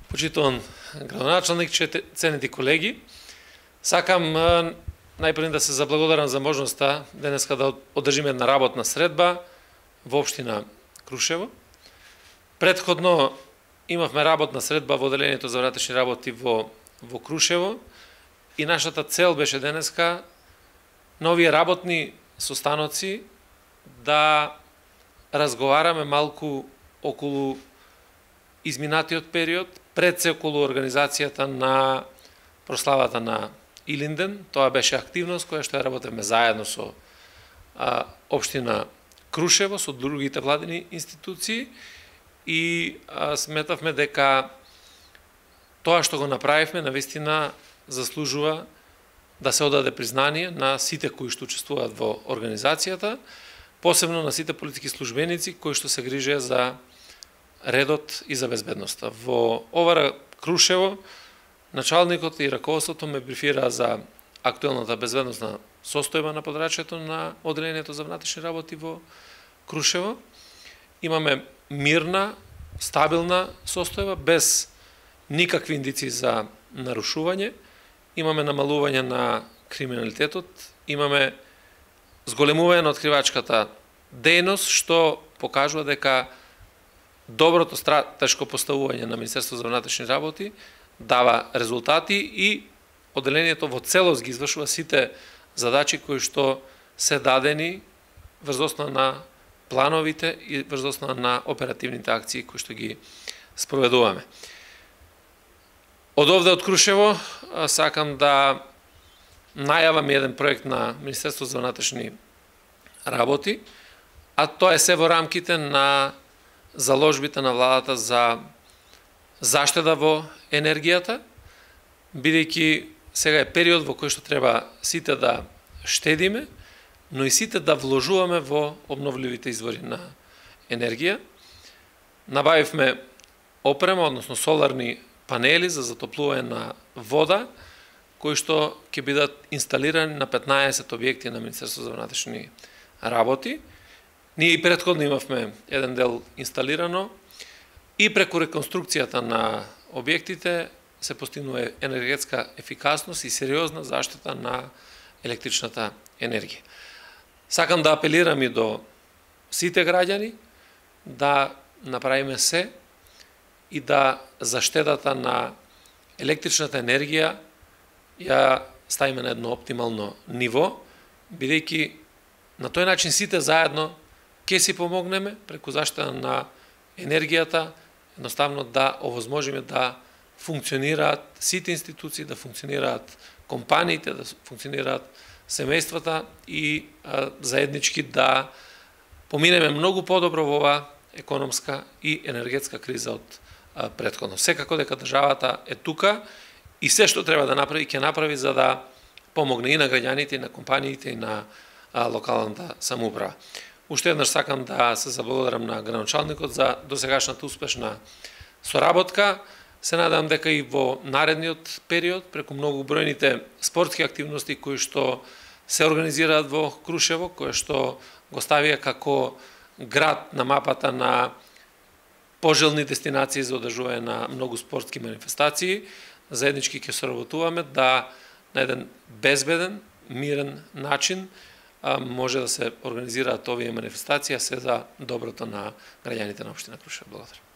Почитуван градоначалник, ценети колеги, сакам најпред да се заблагодарам за можноста денеска да одржиме една работна средба во општина Крушево. Претходно имавме работна средба во одделението за внатрешни работи во Крушево и нашата цел беше денеска на овие работни состаноци да разговараме малку околу изминатиот период, пред се околу организацијата на прославата на Илинден. Тоа беше активност која што ја работевме заедно со општина Крушево, со другите владини институции и сметавме дека тоа што го направивме навистина заслужува да се одаде признание на сите кои што учествуваат во организацијата, посебно на сите политички службеници кои што се грижеа за редот и за безбедноста. Во Овара Крушево началникот и раководството ме брифира за актуелната безбедносна состојба на подрачјето на одделението за внатрешни работи во Крушево. Имаме мирна, стабилна состојба без никакви индици за нарушување. Имаме намалување на криминалитетот, имаме зголемување на откривачката дејност, што покажува дека доброто стратешко поставување на Министерството за внатрешни работи дава резултати и одделението во целост ги извршува сите задачи кои што се дадени врз основа на плановите и врз основа на оперативните акции кои што ги спроведуваме. Од овде од Крушево сакам да најавам еден проект на Министерството за внатрешни работи, а тоа е се во рамките на заложбите на владата за заштеда во енергијата, бидејќи сега е период во кој што треба сите да штедиме, но и сите да вложуваме во обновливите извори на енергија. Набавивме опрема, односно соларни панели за затоплување на вода, кои што ќе бидат инсталирани на 15 објекти на Министерството за внатрешни работи. Ние и претходно имавме еден дел инсталирано и преку реконструкцијата на објектите се постигнува енергетска ефикасност и сериозна заштита на електричната енергија. Сакам да апелирам и до сите граѓани да направиме се и да заштедата на електричната енергија ја ставиме на едно оптимално ниво, бидејќи на тој начин сите заедно ќе си помогнеме преку заштита на енергијата, едноставно да овозможиме да функционираат сите институции, да функционираат компаниите, да функционираат семејствата и заеднички да поминеме многу подобро во оваа економска и енергетска криза од претходно. Секако дека државата е тука и се што треба да направи, ќе направи за да помогне и на граѓаните, и на компаниите, и на локалната самоуправа. Уште еднаш сакам да се заблагодарам на градоначалникот за досегашната успешна соработка. Се надевам дека и во наредниот период, преку многу бројните спортски активности кои што се организираат во Крушево, кои што го ставија како град на мапата на пожелни дестинации за одржување на многу спортски манифестации, заеднички ќе соработуваме да на еден безбеден, мирен начин може да се организираат овие манифестации, а се за доброто на граѓаните на општина Крушево. Благодарам.